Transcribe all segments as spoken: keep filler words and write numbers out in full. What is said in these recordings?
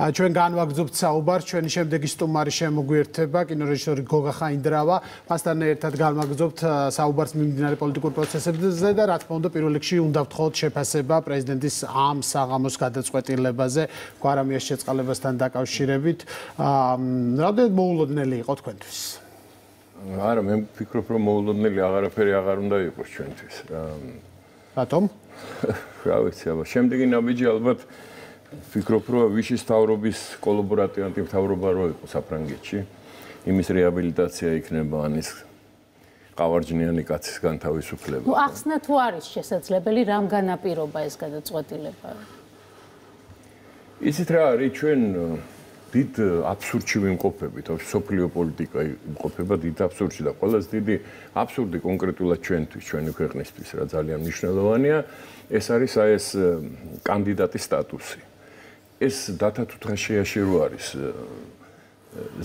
ჩვენ განვაგრძობთ საუბარს, ჩვენი შემდეგი სტუმარი შემოგვიერთება, კინორეჟისორი გოგა ხაინდრავა. მასთან ერთად განვაგრძობთ საუბარს მიმდინარე პოლიტიკურ პროცესებზე და რა თქმა უნდა, პირველ რიგში უნდა ვთხოვოთ შეფასება პრეზიდენტის ამ საღამოს გადაწყვეტილებაზე, გვარამიას შეწყალებასთან დაკავშირებით. რამდენად მოულოდნელი იყო თქვენთვის? არა, მე ვფიქრობ, რომ მოულოდნელი აღარაფერი აღარ უნდა იყოს ჩვენთვის. რატომ? რა ვიცი, აბა, შემდეგი ნაბიჯი ალბათ ვფიქრობ, რომ ვიშის თავრობის კოლაბორატიული თავრობა რო იყო საფრანგეთში, იმის რეაბილიტაცია იქნება ან ის ყავარჯნიანი კაცის განთავისუფლება. ნუ ახსნა თუ არის შესაძლებელი რამ განაპირობა ეს გადაწყვეტილება? იცით რა არის, ჩვენ დიდ აბსურდში ვიმყოფებით, სოფლიო პოლიტიკა იმყოფება დიდ აბსურდში და ყველაზე დიდი აბსურდი კონკრეტულად ჩვენთვის, ჩვენი ქვეყნისთვის, რა ძალიან მნიშვნელოვანია, ეს არის აი ეს კანდიდატის სტატუსი. ეს დათა თუთღაშიაში რო არის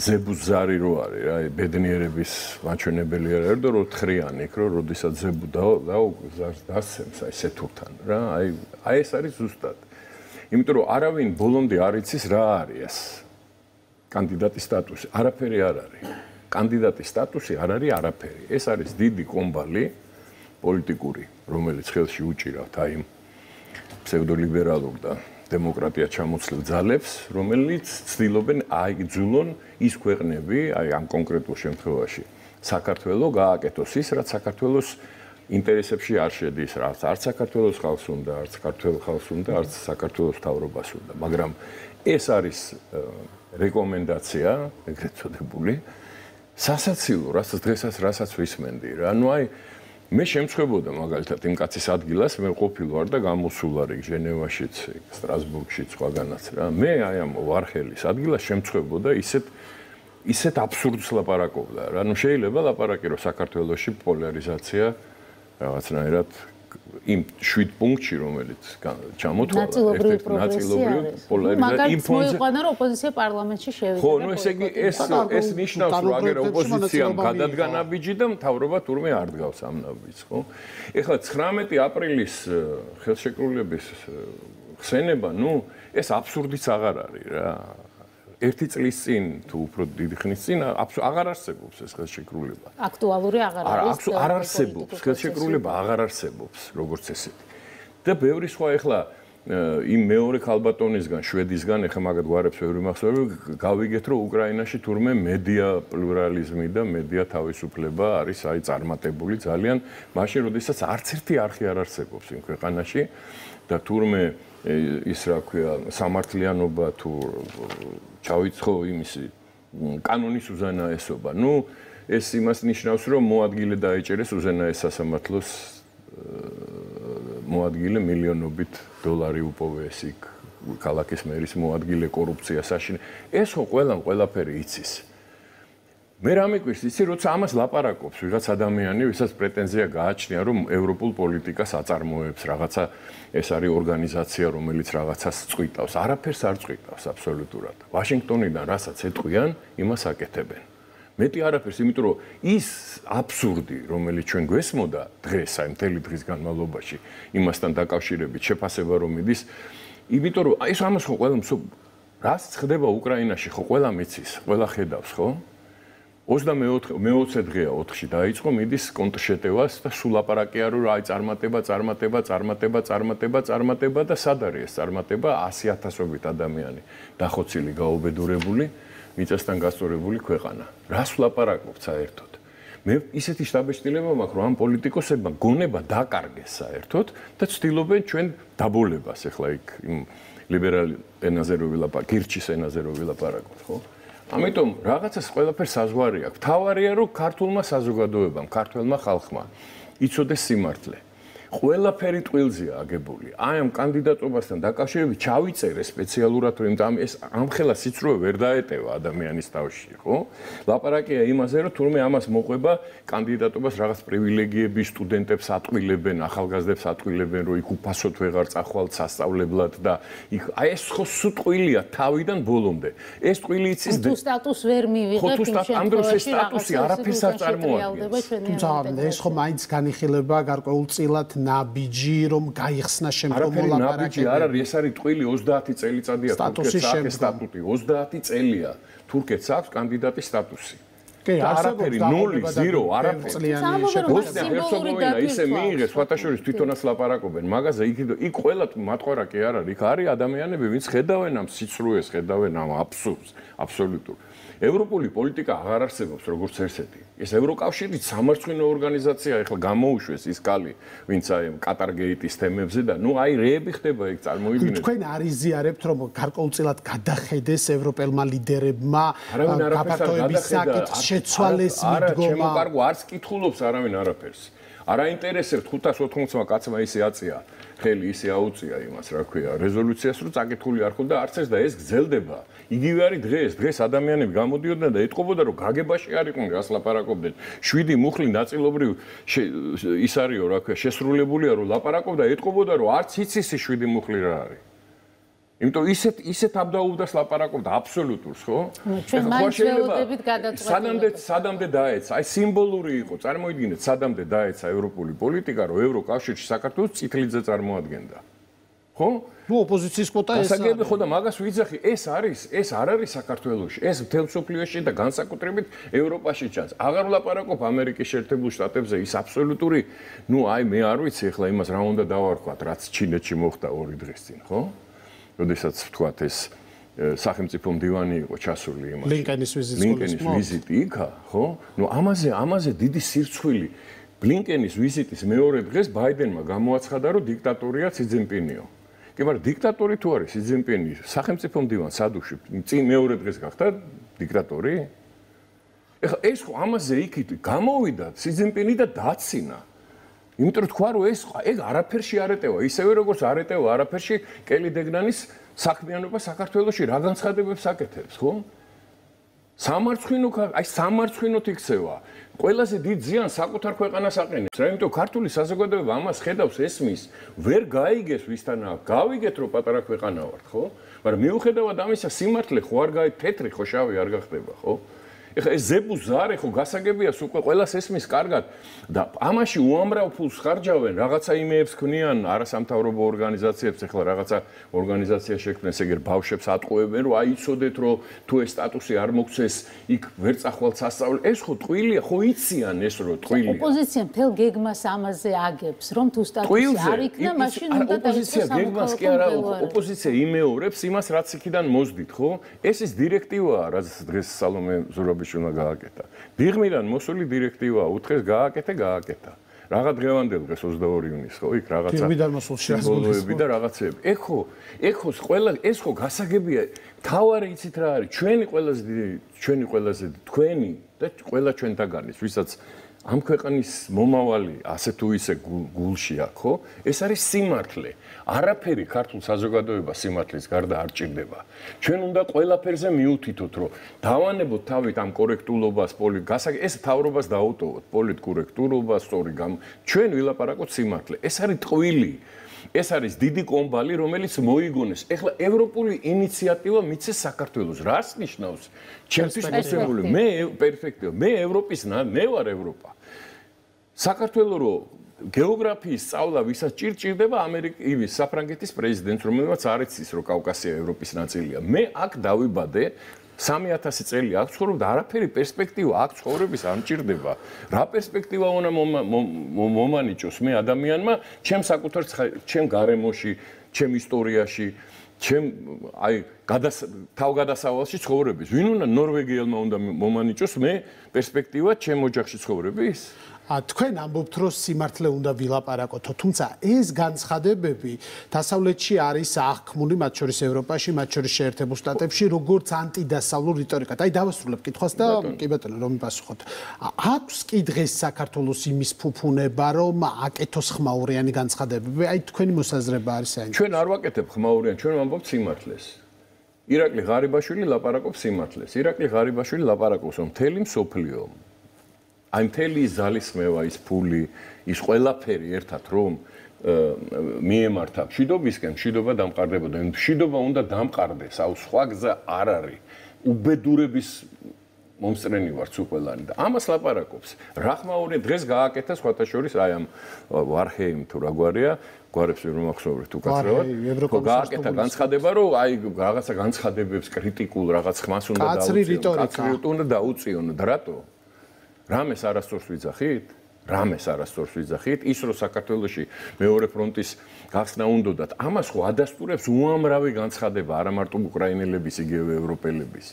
ზებუს ზარი რო არის რა ბედნიერების მაჩვენებელი არ არის და რო თხრიანი იქ რო როდესაც ზებუ დასცემს აი სეთურთან რა აი აი ეს არის ზუსტად იმიტომ რომ არავინ ბოლომდე არ იცის რა არის ეს კანდიდატის სტატუსი არაფერი არ არის კანდიდატის სტატუსი არ არის არაფერი ეს არის დიდი კომბალი პოლიტიკური რომელიც ხელში უჭირავთ აი ფსევდოლიბერალურ და დემოკრატია ჩამოცლილ ძალებს, რომელიც ცდილობენ აიგძულონ ის ქვეყნები, აი ამ კონკრეტულ შემთხვევაში, საქართველოს გააკეთოს ის, რაც საქართველოს ინტერესებში არ შედის, რაც არც საქართველოს ხალხს უნდა, არც საქართველოს ხალხს უნდა, არც საქართველოს მთავრობას უნდა, მაგრამ ეს არის რეკომენდაცია, ეგრეთ წოდებული, სასაცილო, რასაც დღესაც რასაც ვისმენდი რა, ну აი მე შემწხვებოდა მაგალითად იმ კაცის ადგილას მე ყოფილვარ და გამოსულ არის ჟენევაშიც, სტრასბურგშიც, სხვაგანაც რა. მე აი ამ ვარხელის ადგილას შემწხვებოდა ისეთ ისეთ აბსურდს ლაპარაკობდა რა. ნუ შეიძლება ლაპარაკი რომ საქართველოში პოლარიზაცია რაღაცნაირად იმ შვიდ პუნქტში რომელიც ჩამოთვალა ერთ-ერთი ნაწილობრივ პოლარიზაცია იმ ფონზე მოიყვანა რომ ოპოზიცია პარლამენტში შევიდა ხო ნუ ესე იგი ეს ეს ნიშნავს რომ აგერ ოპოზიციამ გადადგა ნაბიჯი და მთავრობა თურმე არ დგავს ამ ნაბიჯს ხო ეხლა ცხრამეტი აპრილის ხელშეკრულების ხსენება ნუ ეს აბსურდიც აღარ არის რა ერთი წლის წინ თუ უფრო დიდი ხნის წინ აღარ არსებობს ეს ხელშეკრულება. აქტუალური აღარ არის. არ არსებობს, ხელშეკრულება აღარ არსებობს, როგორც ესეთი. და ბევრი სხვა ეხლა იმ მეორე ქალბატონისგან, შვედისგან, ეხლა მაგათ გვარებს ბევრი მახსოვს, გავიგეთ, რომ უკრაინაში თურმე მედია პლურალიზმი და მედია თავისუფლება არის აი წარმატებული ძალიან, მაშინ როდესაც არც ერთი არხი არ არსებობს იმ ქვეყანაში და თურმე ის რა ქვია სამართლიანობა თუ ჩავიცხო იმისი კანონის უზენაესობა. ნუ ეს იმას ნიშნავს, რომ მოადგილე დაეჭერეს უზენაეს სასამართლოს მოადგილე მილიონობით დოლარი უპოვეს იქ ქალაქის მერის მოადგილე კორუფცია საშინე. ეს ხო ყველამ ყველაფერი იცის. მე რა მეკვირს იცი, როცა ამას ლაპარაკობს ვიღაც ადამიანი, ვისაც პრეტენზია გააჩნია, რომ ევროპულ პოლიტიკას აწარმოებს რაღაცა ეს არის ორგანიზაცია, რომელიც რაღაცას წვიტავს. არაფერს არ წვიტავს აბსოლუტურად. ვაშინგტონიდან რასაც ეტყვიან, იმას აკეთებენ. მეტი არაფერს, იმიტომ რომ ის აბსურდი, რომელიც ჩვენ გვესმოდა დღეს, აი მთელი დღის განმავლობაში, იმასთან დაკავშირებით შეფასება რომ მიდის, იმიტომ რომ ეს ამას ხო ყველა რაც ხდება უკრაინაში, ხო ყველა მიცის, ყველა ხედავს, ხო? ოცდამეოთხე დღეა ოთხში დაიწყო მიდის კონტრშეტევას და სულ ლაპარაკია რომ აი წარმატება, წარმატება, წარმატება, წარმატება, წარმატება და სად არის ეს წარმატება ასი ათასობით ადამიანი დახოცილი, გაუბედურებული, მიწასთან გასწორებული ქვეყანა. რას ვლაპარაკობთ საერთოდ? მე ისეთი შთაბეჭდილება მაქვს რომ ამ პოლიტიკოსებმა გონება დაკარგეს საერთოდ და ცდილობენ ჩვენ დაბოლებას ახლა იქ იმ ლიბერალ ენაზე რო ვილაპარაკოთ, გირჩის ენაზე რო ვილაპარაკოთ, ხო? ამიტომ რაღაცას ყველაფერს საზღვარი აქვს. თავარია რომ ქართულმა საზოგადოებამ, ქართველმა ხალხმა იცოდეს სიმართლე. ყველაფერი ტყილზეა აგებული. აი ამ კანდიდატობასთან დაკავშირებით ჩავიწერე სპეციალურად რომ ამ ეს ამხელა სიცრუე ვერ დაეტევა ადამიანის თავში, ხო? ლაპარაკია იმაზე რომ თურმე ამას მოყვება კანდიდატობას რაღაც პრივილეგიები სტუდენტებს ატყვილებენ, ახალგაზრდებს ატყვილებენ, რომ იქ უფასოდ ვეღარ წახვალთ სასწავლებლად და იქ აი ეს ხო სუტყვილია თავიდან ბოლომდე. ეს ტყვილი იცის თუ სტატუს ვერ მივიღებ იმ შემთხვევაში ამ დროს ეს სტატუსი არაფერს არ წარმოადგენს. თუმცა ეს ხო მაინც განიხილება გარკვეულწილად ნაბიჯი, რომ გაიხსნა შემდგომ მოლაპარაკებები. არაფერი ნაბიჯი არ არის, ეს არის ტყვილი ოცდაათი წელიწადია თურქეთს აქვს სტატუტი, ოცდაათი წელია თურქეთს აქვს კანდიდატის სტატუსი. კი, არაფერი ნული, ზირო, არაფერი. ბოსნია ჰერცეგოვინა ისე მიიღეს, სხვათაშორის თვითონაც ლაპარაკობენ, მაგაზე იქ იქ ყველა მათყორა კი არ არის, იქ არის ადამიანები, ვინც ხედავენ ამ სიცრუეს, ხედავენ ამ აბსურდს, აბსოლუტურ. ევროპული პოლიტიკა აღარ არსებობს როგორც ერთ-ერთი. ეს ევროკავშირი სამარცხვინო ორგანიზაცია, ეხლა გამოუშვეს ის კალი, ვინც აი კატარგეიტის თემებზე და ნუ აი რეები ხდება იქ წარმოიდგინეთ. თქვენ არ იზიარებთ რომ გარკვეულწილად გადახედეს ევროპელმა ლიდერებმა გაფართოების საკითხს შეცვალეს მიდგომა. არა, ჩემო კარგო, არც კითხულობს არავინ არაფერს. არ აინტერესებთ ხუთას ოთხმოცმა კაცმა ისე აწია, ხელი ისე აუწია იმას, რა ქვია, რეზოლუციას, რომ წაკითხული არ ხონდა არც ეს და ეს გრძელდება. იგივე არის დღეს, დღეს ადამიანები გამოდიოდნენ და ეტყობოდა, რომ გაგებაში არ იყვნენ, რას ლაპარაკობდნენ. შვიდი მუხლი ნაწილობრივ ის არისო, რა ქვია, შესრულებულია, რომ ლაპარაკობდა, ეტყობოდა, რომ არც იცის ის შვიდი მუხლი რა არის. იმიტომ ისეთ ისეთ აბდაუბდას ლაპარაკობდა აბსოლუტურს, ხო? ჩვენ მაინც ველოდებით გადაწყვეტილებას. სადამდე სადამდე დაეცა, აი სიმბოლური იყო, წარმოიდგინეთ, სადამდე დაეცა ევროპული პოლიტიკა, რომ ევროკავშირში საქართველოს წითლიძე წარმოადგენდა. ხო? ნუ ოპოზიციის კვოტა ეს არის. გასაგები ხო და მაგას ვიძახი, ეს არის, ეს არ არის საქართველოში, ეს მთელ მსოფლიოში და განსაკუთრებით ევროპაში ჩანს. აღარ ვლაპარაკობ ამერიკის შეერთებულ შტატებზე, ის აბსოლუტური, ნუ აი მე არ ვიცი ახლა იმას რა უნდა დავარქვათ, რაც ჩინეთში მოხდა ორი დღის წინ, ხო? როდესაც ვთქვათ ეს სახელმწიფო მდივანი იყო ჩასული იმაში. ბლინკენის ვიზიტი. ბლინკენის ვიზიტი იქა, ხო? ნუ ამაზე, ამაზე დიდი სირცხვილი. ბლინკენის ვიზიტის მეორე დღეს ბაიდენმა გამოაცხადა, რომ დიქტატორია სი ძინპინიო. კი, მაგრამ დიქტატორი თუ არის სი ძინპინი, სახელმწიფო მდივანს სადუში, წინ მეორე დღეს გახდა დიქტატორი? ეხლა ეს ხო ამაზე იქით გამოვიდა სი ძინპინი და დაცინა. იმიტომ რომ თქვა რომ ეს ეგ არაფერში არ ეტევა, ისევე როგორც არ ეტევა არაფერში კელი დეგნანის საქმიანობა საქართველოში რა განცხადებებს აკეთებს, ხო? სამარცხვინო, აი სამარცხვინოთ იქცევა. ყველაზე დიდ ზიანს საკუთარ ქვეყანას აყენებს. რა იმიტომ ქართული საზოგადოება ამას ხედავს, ესმის, ვერ გაიგეს ვისთანაა. გავიგეთ რომ პატარა ქვეყანა ვართ, ხო? მაგრამ მიუხედავად ამისა სიმართლე ხო არ გაი თეთრი ხო შავი არ გახდება, ხო? ეხლა ეს ზებუზარე ხო გასაგებია უკვე ყველას ესმის კარგად და ამაში უამრავ ფულს ხარჯავენ, რაღაცა იმეებს ქმნიან არასამთავრობო ორგანიზაციებს, ეხლა რაღაცა ორგანიზაცია შექმნეს, ეგერ ბავშვებს ატყუებენ, რომ აიცოდეთ, რომ თუ ეს სტატუსი არ მოგცეს, იქ ვერ წახვალთ სასწავლებლად. ეს ხო ტყუილია, ხო იციან ეს რომ ტყუილია. ოპოზიცია მთელ გეგმას ამაზე აგებს, რომ თუ სტატუსი არ იქნა, მაშინ უნდა ოპოზიცია გეგმას კი არა, ოპოზიცია იმეორებს იმას, რაც იქიდან მოძდით, ხო? ეს ის დირექტივაა, რაც დღეს სალომე ზურაბი უნდა გააკეთა. დიღმიდან მოსული დირექტივაა, უთხეს გააკეთე, გააკეთა. რაღა დღევანდელ დღეს ოცდაორი ივნისს, ხო? იქ რაღაცა დიღმიდან მოსულ შემოვლები და რაღაცები. ეგ ხო, ეგ ხო ყველა ეს ხო გასაგებია. თავარი იცით რა არის? ჩვენი ყველაზე დიდი, ჩვენი ყველაზე თქვენი და ყველა ჩვენთაგანის, ვისაც ამ ქვეყნის მომავალი ასე თუ ისე გულში აქვს, ხო? ეს არის სიმართლე. არაფერი ქართულ საზოგადოებას სიმართლის გარდა არ ჭირდება. ჩვენ უნდა ყველაფერზე მიუთითოთ, რომ დავანებოთ თავით ამ კორექტულობას, პოლიტიკას, ეს თავრობას დაუტოვოთ, პოლიტკორექტულობას, სწორი გამ. ჩვენ ვილაპარაკოთ სიმართლე. ეს არის ტყვილი. ეს არის დიდი კომბალი, რომელიც მოიგონეს. ეხლა ევროპული ინიციატივა მიცეს საქართველოს. რას ნიშნავს? ჩემთვის მოსებული მე პერფექტია. მე ევროპის მე ვარ ევროპა. საქართველოს რო გეოგრაფიის სწავლა ვისაც ჭირჭირდება ამერიკის საფრანგეთის პრეზიდენტს, რომელმაც არ იცის, რომ კავკასია ევროპის ნაწილია. მე აქ დავიბადე, სამი ათასი წელი აქ ცხოვრობ და არაფერი პერსპექტივა აქ ცხოვრების არ მჭირდება. რა პერსპექტივა უნდა მომანიჭოს მე ადამიანმა, ჩემ საკუთარ ჩემ გარემოში, ჩემ ისტორიაში, ჩემ აი თავგადასავალში ცხოვრების. ვინ უნდა ნორვეგიელმა უნდა მომანიჭოს მე პერსპექტივა ჩემ ოჯახში ცხოვრების? თქვენ ამბობთ, რომ სიმართლე უნდა ვილაპარაკოთო, თუმცა ეს განცხადებები დასავლეთში არის აღქმული, მათ შორის ევროპაში, მათ შორის შეერთებულ შტატებში, როგორც ანტიდასავლურ რიტორიკად. აი დავასრულებ კითხვას და კი ბატონო, რომ მიპასუხოთ. აქვს კი დღეს საქართველოს იმის ფუფუნება, რომ აკეთოს ხმაურიანი განცხადებები? აი თქვენი მოსაზრება არის საინტერესო. ჩვენ არ ვაკეთებ ხმაურიან, ჩვენ ვამბობთ სიმართლეს. ირაკლი ღარიბაშვილი ლაპარაკობს სიმართლეს. ირაკლი ღარიბაშვილი ლაპარაკობს, რომ მთელი მსოფლიო აი მთელი ზალისხმევა, ის ფული, ის ყველაფერი ერთად რომ მიემართა მშვიდობისკენ, მშვიდობა დამყარდებოდა. მშვიდობა უნდა დამყარდეს, აუ სხვა გზა არ არის. უბედურების მომსწრენი ვარ თუ ყველანი და ამას ლაპარაკობს. რა ხმა უნდა დღეს გააკეთა სხვათა შორის აი ამ ვარჰეიმ თუ რა გვარია, გვარებს ვერ მომახსოვრეთ უკაცრავად. გააკეთა განცხადება, რომ აი რაღაცა განცხადებებს კრიტიკულ რაღაც ხმას უნდა დაუწიონ. კაცრი რიტორიკა. უნდა დაუწიონ და რატო? რამეს არასწორს ვიძახით? რამეს არასწორს ვიძახით? ის რომ საქართველოში მეორე ფრონტის გახსნა უნდათ, ამას ხო ადასტურებს უამრავი განცხადება, არა მარტო უკრაინელების, იგივე ევროპელების.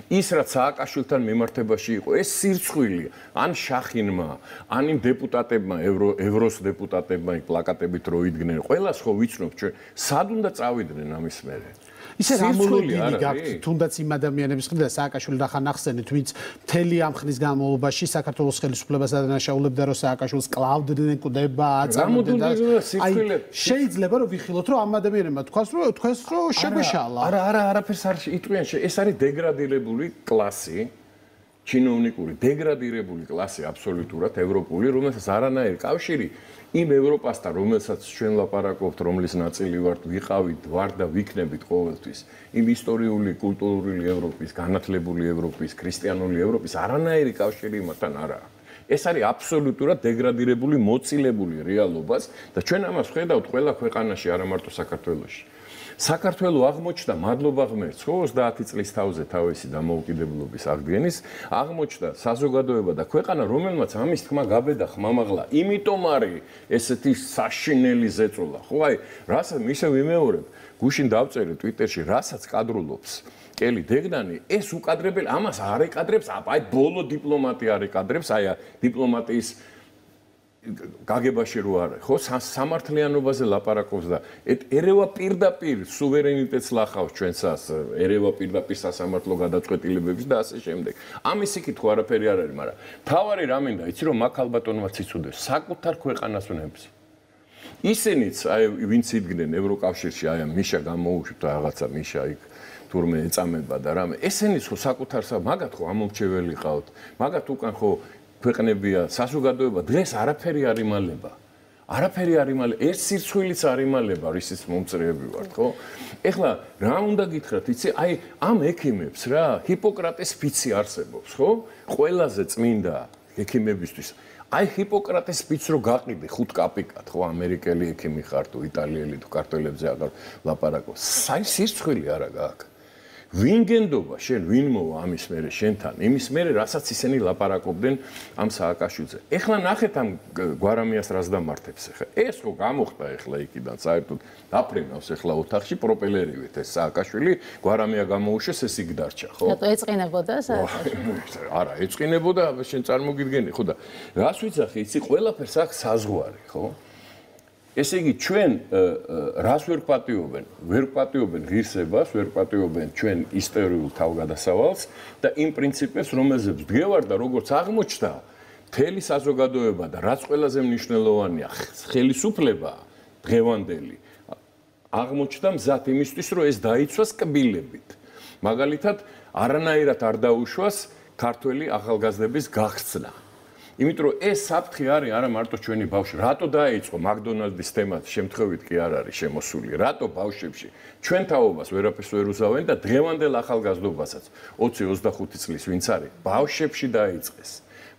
ის რაც სააკაშვილთან მიმართებაში იყო, ეს სირცხვილი, ან შახინმა, ან იმ დეპუტატებმა, ევროს დეპუტატებმა პლაკატებით რო იდგნენ, ყველას ხო ვიცნობ ჩვენ, სად უნდა წავიდნენ ამის მერე? ისე რამოლოდინი გაქვთ თუნდაც იმ ადამიანების მხრიდან სააკაშვილი რახან ახსენეთ, ვინც მთელი ამ ხნის განმავლობაში საქართველოს ხელისუფლებას ადანაშაულებდა, რომ სააკაშვილს კლავდნენ, კვდება, აწამებდა. აი შეიძლება რომ ვიხილოთ, რომ ამ ადამიანებმა თქვას, რომ თქვას, რომ შეგვეშალა. არა, არა, არაფერს არ იტყვიან, ეს არის დეგრადირებული კლასი. ჩინოვნიკური დეგრადირებული კლასი აბსოლუტურად ევროპული, რომელსაც არანაირი კავშირი იმ ევროპასთან, რომელსაც ჩვენ ლაპარაკობთ, რომლის ნაწილი ვართ, ვიყავით, ვარ და ვიქნებით ყოველთვის, იმ ისტორიული, კულტურული ევროპის, განათლებული ევროპის, ქრისტიანული ევროპის არანაირი კავშირი იმათთან არ აქვს. ეს არის აბსოლუტურად დეგრადირებული, მოცილებული რეალობას და ჩვენ ამას ხედავთ ყველა ქვეყანაში, არა მარტო საქართველოში. საქართველო აღმოჩნდა მადლობა ღმერთს, ხო, ოცდაათი წლის თავზე თავისი დამოუკიდებლობის აღდგენის, აღმოჩნდა საზოგადოება და ქვეყანა, რომელმაც ამის თქმა გაბედა ხმამაღლა, იმიტომ არის ესეთი საშინელი ზეწოლა. ხო, აი, რასაც ისე ვიმეორებ, გუშინ დავწერე ტვიტერში, რასაც კადრულობს კელი დეგნანი, ეს უკადრებელი, ამას არ ეკადრებს, აი, ბოლო დიპლომატი არ ეკადრებს, აი, დიპლომატიის გაგებაში რო არა, ხო, სამართლიანობაზე ლაპარაკობს და ერევა პირდაპირ სუვერენიტეტს ლახავს ჩვენსას, ერევა პირდაპირ სასამართლო გადაწყვეტილებებს და ასე შემდეგ. ამის იკითხვა არაფერი არ არის, მაგრამ თავარი რა მინდა, იცი რომ მაგ ალბატონმაც იცოდეს, საკუთარ ქვეყანას უნებს. ისინიც, აი, ვინც იდგნენ ევროკავშირში, აი, მიშა გამოუშვით რაღაცა, მიშა იქ თურმე ეწამება და რამე. ესენიც ხო საკუთარსა, მაგათ ხო ამომრჩეველი ყავთ. მაგათ უკან ხო ქვეყნებია, საზოგადოება დღეს არაფერი არ იმალება. არაფერი არ იმალება, ერთ სირცვილიც არ იმალება, რისიც მომწრეები ვართ, ხო? ეხლა რა უნდა გითხრათ, იცი, აი ამ ექიმებს რა, ჰიპოკრატეს ფიცი არსებობს, ხო? ყველაზე წმინდა ექიმებისთვის. აი ჰიპოკრატეს ფიცს რო გაყიდე ხუთ კაპიკად, ხო, ამერიკელი ექიმი ხარ თუ იტალიელი თუ ქართველებზე აღარ ლაპარაკობ. საი სირცხვილი არა გაქვს. ვინ გენდობა შენ, ვინ მოვა ამის მერე შენთან, იმის მერე რასაც ისინი ლაპარაკობდნენ ამ სააკაშვილზე. ეხლა ნახეთ ამ გვარამიას რას დამართებს ეხლა. ეს ხო გამოხდა ეხლა იქიდან საერთოდ დაფრენავს ეხლა ოთახში პროპელერივით ეს სააკაშვილი, გვარამია გამოუშვეს, ეს იქ დარჩა, ხო? რატო ეწყინებოდა სააკაშვილი? არა, ეწყინებოდა, შენ წარმოგიდგენი, ხო და რას ვიცახი, იცი, ყველაფერს აქვს საზღვარი, ხო? ესე იგი ჩვენ რას ვერ პატიობენ? ვერ პატიობენ ღირსებას, ვერ პატიობენ ჩვენ ისტორიულ თავგადასავალს და იმ პრინციპებს, რომელზეც დგევარ და როგორც აღმოჩნდა, მთელი საზოგადოება და რაც ყველაზე მნიშვნელოვანია, ხელისუფლება დღევანდელი აღმოჩნდა მზად იმისთვის, რომ ეს დაიცვას კბილებით. მაგალითად, არანაირად არ დაუშვას ქართველი ახალგაზრდების გახსნა. იმიტომ რომ ეს საფრთხე არის არა მარტო ჩვენი ბავშვი. რატო დაიწყო მაკდონალდის თემა შემთხვევით კი არ არის შემოსული. რატო ბავშვებში ჩვენ თაობას ვერაფერს ვერ უზავენ და დღევანდელ ახალგაზრდობასაც ოცი ოცდახუთი წლის ვინც არის ბავშვებში დაიწყეს.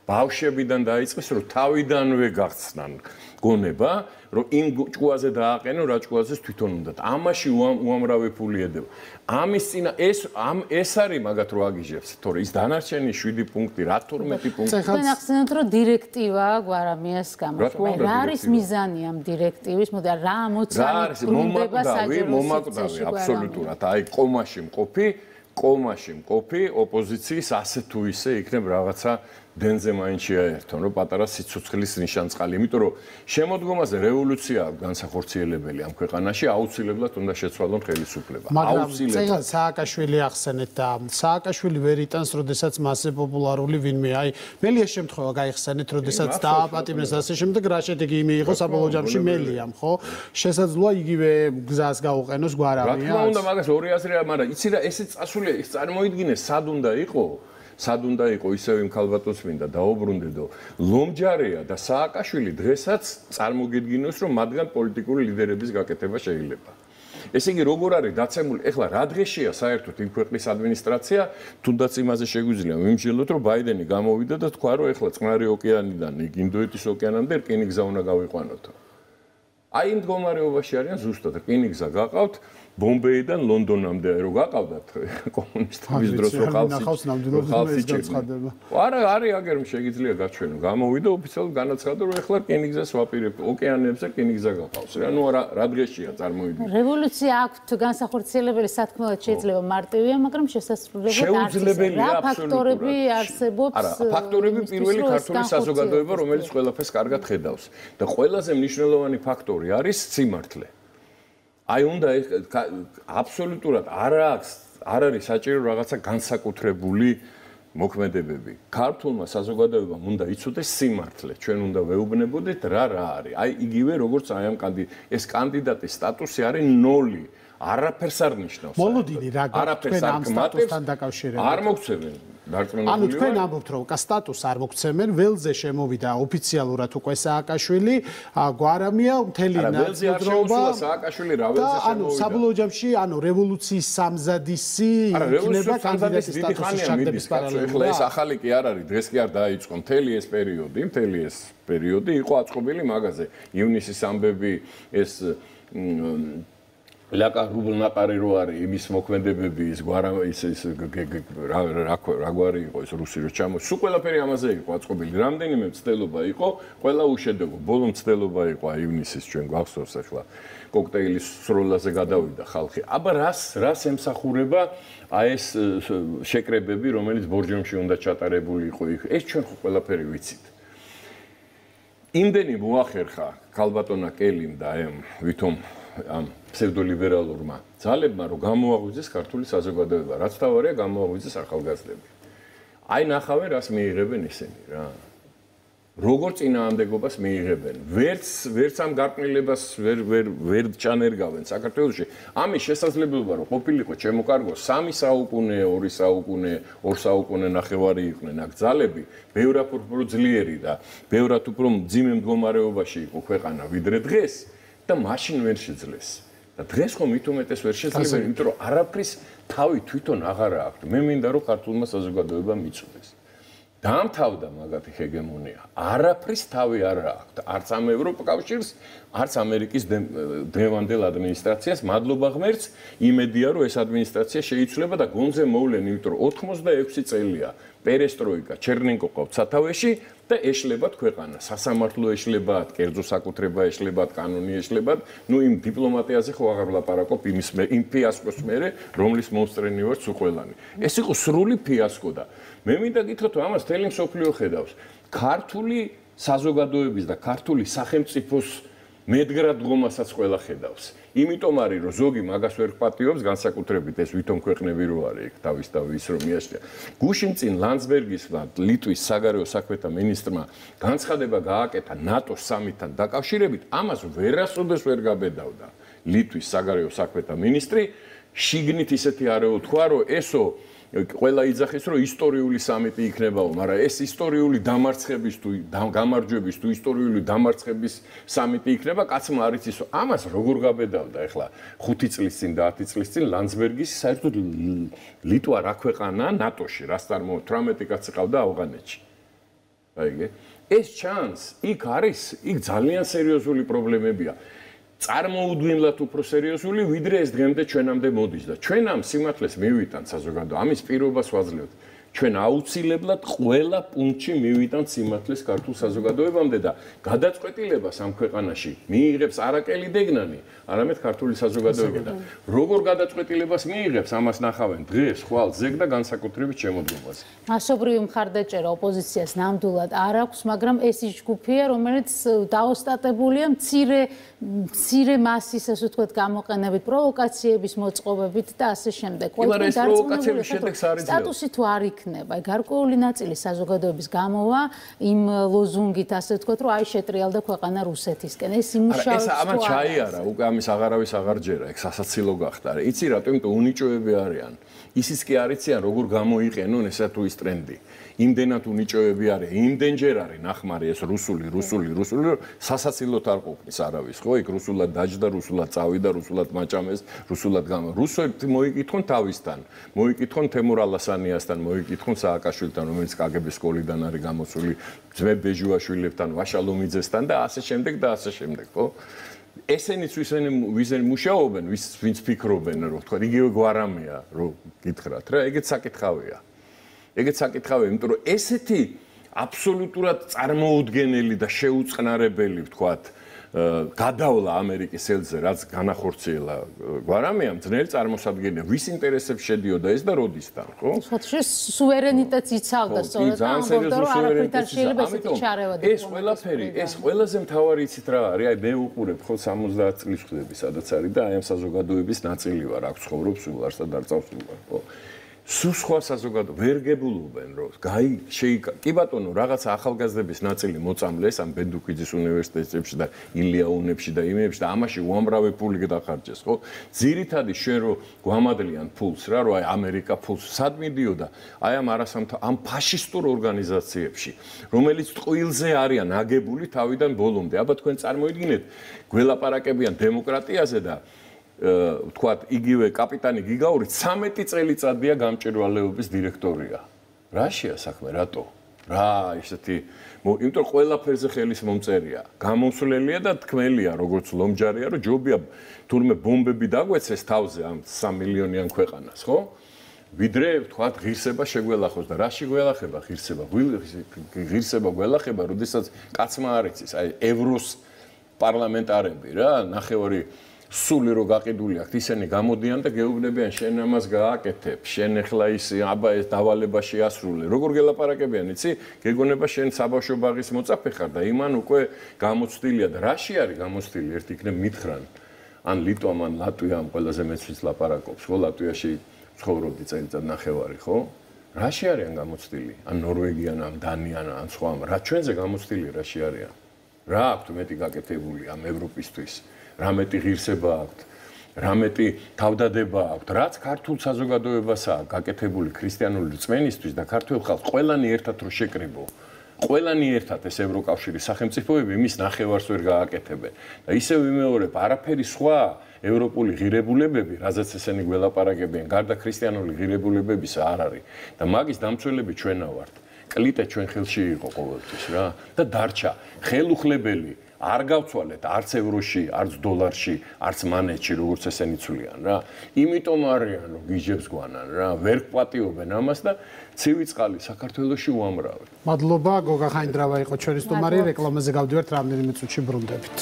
ბავშვებიდან დაიწყეს რომ თავიდანვე გახსნან გონება რომ იმ ჭკუაზე დააყენო რა ჭკუაზეც თვითონ უნდათ. ამაში უამრავი ფული ედება. ამის წინა ეს ამ ეს არის მაგათ რო აგიჟებს, თორე ის დანარჩენი შვიდი პუნქტი, რა თორმეტი პუნქტი. თქვენ ახსენეთ რომ დირექტივა გვარამიას გამოშვება. რა არის მიზანი ამ დირექტივის? მოდი რა ამოცანით ბრუნდება საჯარო მომაკვდავი აბსოლუტურად. აი კომაში მყოფი, კომაში მყოფი ოპოზიციის ასე თუ ისე იქნებ რაღაცა დენზე მაინც შეაერთონ, რომ პატარა სიცოცხლის ნიშანწყალი, იმიტომ რომ შემოდგომაზე რევოლუცია განსახორციელებელი ამ ქვეყანაში აუცილებლად უნდა შეცვალონ ხელისუფლება. აუცილებლად. სააკაშვილი ახსენეთ და სააკაშვილი ვერ იტანს, როდესაც მასზე პოპულარული ვინმე. აი, მელია შემთხვევა გაიხსენეთ, როდესაც დააპატიმრეს ასე შემდეგ, რა შედეგი მიიღო საბოლოო ჯამში მელიამ, ხო? შესაძლოა იგივე გზას გაუყენოს გვარამია. რა თქმა უნდა, მაგას ორი აზრია, მაგრამ იცი რა, ესე წასულია, ის წარმოიდგინე, სად უნდა იყო? სად უნდა იყო ისევ იმ ქალბატონს მინდა დაუბრუნდედო ლომჯარეა და სააკაშვილი დღესაც წარმოგიდგინოს რომ მათგან პოლიტიკური ლიდერების გაკეთება შეიძლება. ესე იგი როგორ არის დაცემული? ეხლა რა დღეშია საერთოდ იმ ქვეყნის ადმინისტრაცია, თუნდაც იმაზე შეგვიძლია ვიმსჯელოთ, რომ ბაიდენი გამოვიდა და თქვა, რომ ეხლა წყნარი ოკეანიდან იქ ინდოეთის ოკეანამდე რკინიგზა უნდა გავიყვანოთ. აი იმ მდგომარეობაში არიან ზუსტად რკინიგზა გაყავთ ბომბეიდან ლონდონამდე რო გაყავდათ კომუნისტების დროს რო ხალხი გაცხადება. არა, არის აგერ შეიძლება გაჩვენო. გამოვიდა ოფიციალურად განაცხადა, რომ ეხლა რკინიგზას ვაპირებ ოკეანებზე რკინიგზა გაყავს. რა ნუ რა რა დღეშია წარმოიდგინე. რევოლუცია აქვთ განსახორციელებელი სათქმელად შეიძლება მარტივია, მაგრამ შესაძლებლობა არ შეუძლებელია აბსოლუტურად. რა ფაქტორები არსებობს? არა, ფაქტორები პირველი ქართული საზოგადოება, რომელიც ყველაფერს კარგად ხედავს და ყველაზე მნიშვნელოვანი ფაქტორი არის სიმართლე. აი უნდა აბსოლუტურად არ აქვს არ არის საჭირო რაღაცა განსაკუთრებული მოქმედებები. ქართულმა საზოგადოებამ უნდა იცოდეს სიმართლე. ჩვენ უნდა ვეუბნებოდეთ რა რა არის. აი იგივე როგორც აი ამ ეს კანდიდატის სტატუსი არის ნოლი. არაფერს არ ნიშნავს. მოლოდინი რა გაქვთ ამ სტატუსთან დაკავშირებით? არ მოგცემენ. ანუ თქვენ ამბობთ, რომ სტატუსს არ მოგცემენ, ველზე შემოვიდა ოფიციალურად უკვე სააკაშვილი, გვარამია მთელი ნაწილდროობა სააკაშვილი რა ველზე შემოვიდა. ანუ საბოლოო ჯამში, ანუ რევოლუციის სამზადისი იქნება კანდიდატის სტატუსის ჩაგდების პარალელურად. ეხლა ეს ახალი კი არ არის, დღეს კი არ დაიწყო მთელი ეს პერიოდი, მთელი ეს პერიოდი იყო აწყობილი მაგაზე. ივნისის ამბები ეს ლაკა რუბლნაყარი რო არის იმის მოქმედებები ის გვარა ის ის რა რა გვარი იყო ეს რუსი რო ჩამო სულ ყველაფერი ამაზე იყო აწყობილი რამდენიმე მცდელობა იყო ყველა უშედეგო ბოლო მცდელობა იყო ივნისის ჩვენ გვახსოვს ახლა კოქტეილის სროლაზე გადავიდა ხალხი აბა რას რას ემსახურება აი ეს შეკრებები რომელიც ბორჯომში უნდა ჩატარებული იყო ეს ჩვენ ხო ყველაფერი ვიცით იმდენი მოახერხა ქალბატონა კელიმ და ამ ვითომ ამ ფსევდოლიბერალურმა ძალებმა რომ გამოაღვიძეს ქართული საზოგადოება, რაც თავარია გამოაღვიძეს ახალგაზრდები. აი ნახავენ რას მიიღებენ ისინი რა. როგორ წინააღმდეგობას მიიღებენ. ვერც ვერც ამ გარყვნილებას ვერ ვერ ვერ ჩანერგავენ საქართველოში. ამის შესაძლებლობა რომ ყოფილიყო ჩემო კარგო სამი საუკუნე, ორი საუკუნე, ორ საუკუნე ნახევარი იყვნენ აქ ძალები, ბევრად უფრო ძლიერი და ბევრად უფრო მძიმე მდგომარეობაში იყო ქვეყანა ვიდრე დღეს და მაშინ ვერ შეძლეს. და დღეს ხომ მით უმეტეს ვერ შეძლება, იმიტომ რომ არაფრის თავი თვითონ აღარა აქვს. მე მინდა რომ ქართულმა საზოგადოებამ იცოდეს. დაამთავრდა მაგათი ჰეგემონია. არაფრის თავი არ აქვს. არც ამ ევროკავშირს, არც ამერიკის დღევანდელ ადმინისტრაციას მადლობა ღმერთს, იმედია რომ ეს ადმინისტრაცია შეიცვლება და გონზე მოვლენ, იმიტომ რომ ოთხმოცდაექვსი წელია პერესტროიკა, ჩერნენკო ყავთ სათავეში და ეშლებათ ქვეყანა. სასამართლო ეშლებათ, კერძო საკუთრება ეშლებათ, კანონი ეშლებათ. ნუ იმ დიპლომატიაზე ხო აღარ ვლაპარაკობ იმის მე, იმ ფიასკოს მერე, რომლის მომსწრენი ვარ სულ ყველანი. ეს იყო სრული ფიასკო და მე მინდა გითხრათ, რომ ამას თელი მსოფლიო ხედავს. ქართული საზოგადოების და ქართული სახელმწიფოს მედგრად დგომასაც ყველა ხედავს. იმიტომ არის რომ ზოგი მაგას ვერ პატიობს განსაკუთრებით ეს ვითომ ქვეყნები რო არის იქ თავის თავი ის რომ მიაშლია. გუშინ წინ ლანდსბერგისმა ლიტვის საგარეო საქმეთა მინისტრმა განცხადება გააკეთა ნატოს სამიტთან დაკავშირებით, ამას ვერასოდეს ვერ გაბედავდა ლიტვის საგარეო საქმეთა მინისტრი. შიგნით ისეთი არეულ თქვა რომ ესო ყველა იძახის რომ ისტორიული სამიტი იქნებაო, მაგრამ ეს ისტორიული დამარცხების თუ გამარჯვების თუ ისტორიული დამარცხების სამიტი იქნება, კაცმა არ იცის, ამას როგორ გაბედავდა ახლა ხუთი წლის წინ და ათი წლის წინ ლანდსბერგის საერთოდ ლიტვა რა ქვეყანაა ნატოში, რას წარმოო თვრამეტი კაცი ყავდა ავღანეთში. აიგე? ეს ჩანს, იქ არის, იქ ძალიან სერიოზული პრობლემებია. წარმოუდგენლად უფრო სერიოზული ვიდრე ეს დღემდე ჩვენამდე მოდის და ჩვენ ამ სიმართლეს მივიტანთ საზოგადო ამის პირობას ვაძლევთ ჩვენ აუცილებლად ყველა პუნქტში მივიტანთ სიმართლეს ქართულ საზოგადოებამდე და გადაწყვეტილებას ამ ქვეყანაში მიიღებს არაკელი დეგნანი არამედ ქართული საზოგადოება და როგორ გადაწყვეტილებას მიიღებს ამას ნახავენ დღეს ხვალ ზეგ და განსაკუთრებით შემოდგომაზე მასობრივი მხარდაჭერა ოპოზიციას ნამდვილად არ აქვს მაგრამ ეს ის ჯგუფია რომელიც დაოსტატებულია მცირე მცირე მასის ასე ვთქვათ გამოყენებით პროვოკაციების მოწყობებით და ასე შემდეგ. ყველა პროვოკაციების შედეგს არის სტატუსი თუ არ იქნება იქნება. გარკვეული ნაწილი საზოგადოების გამოვა იმ ლოზუნგით, ასე ვთქვათ, რომ აი შეტრიალდა ქვეყანა რუსეთისკენ. ეს იმუშავებს თუ არა? ეს ამან ჩაიარა, უკვე ამის აღარავის აღარ ჯერა, ეგ სასაცილო გახდა. იცი რატო? იმიტომ რომ უნიჭოები არიან. ისიც კი არ იციან როგორ გამოიყენონ ესა თუ ის ტრენდი. იმდენად უნიჭოები არიან, იმდენჯერ არის ნახმარი ეს რუსული, რუსული, რუსული, სასაცილოდ არ ყოფნის არავის, ხო? იქ რუსულად დაჯდა, რუსულად წავიდა, რუსულად მაჭამეს, რუსულად გამა. რუსები მოიკითხონ თავისთან, მოიკითხონ თემურ ალასანიასთან, მოიკითხონ სააკაშვილთან, რომელიც კაგების სკოლიდან არის გამოსული, ძმებ ბეჟუაშვილებთან, ვაშალომიძესთან და ასე შემდეგ და ასე შემდეგ, ხო? ესენიც ვისენ ვიზენ მუშაობენ, ვის ვინც ფიქრობენ, რომ თქვა, იგივე გვარამია, რომ გითხრათ რა, ეგეც საკითხავია. ეგეც საკითხავია, იმიტომ რომ ესეთი აბსოლუტურად წარმოუდგენელი და შეუწყნარებელი, ვთქვათ, გადავლა ამერიკის ელზე, რაც განახორციელა გვარამიამ, ძნელი წარმოსადგენია, ვის ინტერესებს შედიოდა ეს და როდისთან, ხო? სხვადასხვა სუვერენიტეტს იცავდა სწორედ და ამბობდა, რომ არაფრით არ შეიძლება ესეთი ჩარევა ეს ყველაფერი, ეს ყველაზე მთავარი იცით რა არის, აი მე უყურებ ხო სამოცდაათ წლის ხდები, სადაც არის და აი ამ საზოგადოების ნაწილი ვარ, აქ ცხოვრობ სულ არსად არ წავსულვარ, ხო? სულ სხვა საზოგადო ვერ გებულობენ რომ გაი შეიკ კი ბატონო რაღაცა ახალგაზრდების ნაწილი მოწამლეს ამ ბენდუქიძის უნივერსიტეტებში და ილიაუნებში და იმებში და ამაში უამრავი ფული გადახარჯეს ხო ძირითადი შენ რომ გვამადლიან ფულს რა რომ აი ამერიკა ფულს სად მიდიოდა აი ამ არასამთავრობო ამ ფაშისტურ ორგანიზაციებში რომელიც ტყუილზე არიან აგებული თავიდან ბოლომდე აბა თქვენ წარმოიდგინეთ გველაპარაკებიან დემოკრატიაზე და ვთქვათ, იგივე კაპიტანი გიგაური ცამეტი წელიწადია გამჭვირვალეობის დირექტორია. რაშია საქმე, რატო? რა, ისეთი, იმიტომ რომ ყველაფერზე ხელის მომწერია. გამოსვლელია და თქმელია, როგორც ლომჯარია, რომ ჯობია თურმე ბომბები დაგვეცეს თავზე ამ სამ მილიონიან ქვეყანას, ხო? ვიდრე, ვთქვათ, ღირსება შეგველახოს და რაში გველახება ღირსება? ღირსება გველახება, როდესაც კაცმა არ იცის, აი ევროს პარლამენტარები რა, ნახევარი სული რო გაყიდული აქვს ისინი გამოდიან და გეუბნებიან შენ ამას გააკეთებ შენ ახლა ის აბა ეს დავალებაში ასრულე როგორ გელაპარაკებიან იცი გეგონება შენ საბავშვო ბაღის მოწაფე ხარ და იმან უკვე გამოცდილია და რაში არის გამოცდილი ერთ იქნებ მითხრან ან ლიტვამ ან ლატვიამ ყველაზე მეცვის ლაპარაკობს ხო ლატვიაში ცხოვრობდი წელიწად ნახევარი ხო რაში არიან გამოცდილი ან ნორვეგიან ან დანიან ან სხვა რა ჩვენზე გამოცდილი რაში არიან რა აქვთ მეტი გაკეთებული ამ ევროპისთვის რამეტი ღირსება აქვთ, რამეტი თავდადება აქვთ, რაც ქართულ საზოგადოებასაა გაკეთებული ქრისტიანული რწმენისთვის და ქართულ ხალხს ყველანი ერთად რო შეკრიბო. ყველანი ერთად ეს ევროკავშირის სახელმწიფოები მის ნახევარს ვერ გააკეთებენ. და ისევ ვიმეორებ, არაფერი სხვა ევროპული ღირებულებები, რაზეც ესენი გველაპარაკებიან, გარდა ქრისტიანული ღირებულებებისა არ არის. და მაგის დამცველები ჩვენა ვართ. კლიტე ჩვენ ხელში იყო ყოველთვის რა და დარჩა ხელუხლებელი არ გავცვალეთ არც ევროში, არც დოლარში, არც მანეთში, როგორც ესენი ცვლიან რა. იმიტომ არიან, რომ გიჟებს გვანან რა, ვერ პატიობენ ამას და ცივი წყალი საქართველოში უამრავი. მადლობა, გოგა ხაინდრავა იყო ჩვენი სტუმარი, რეკლამაზე გავდივართ რამდენიმე წუთში ბრუნდებით.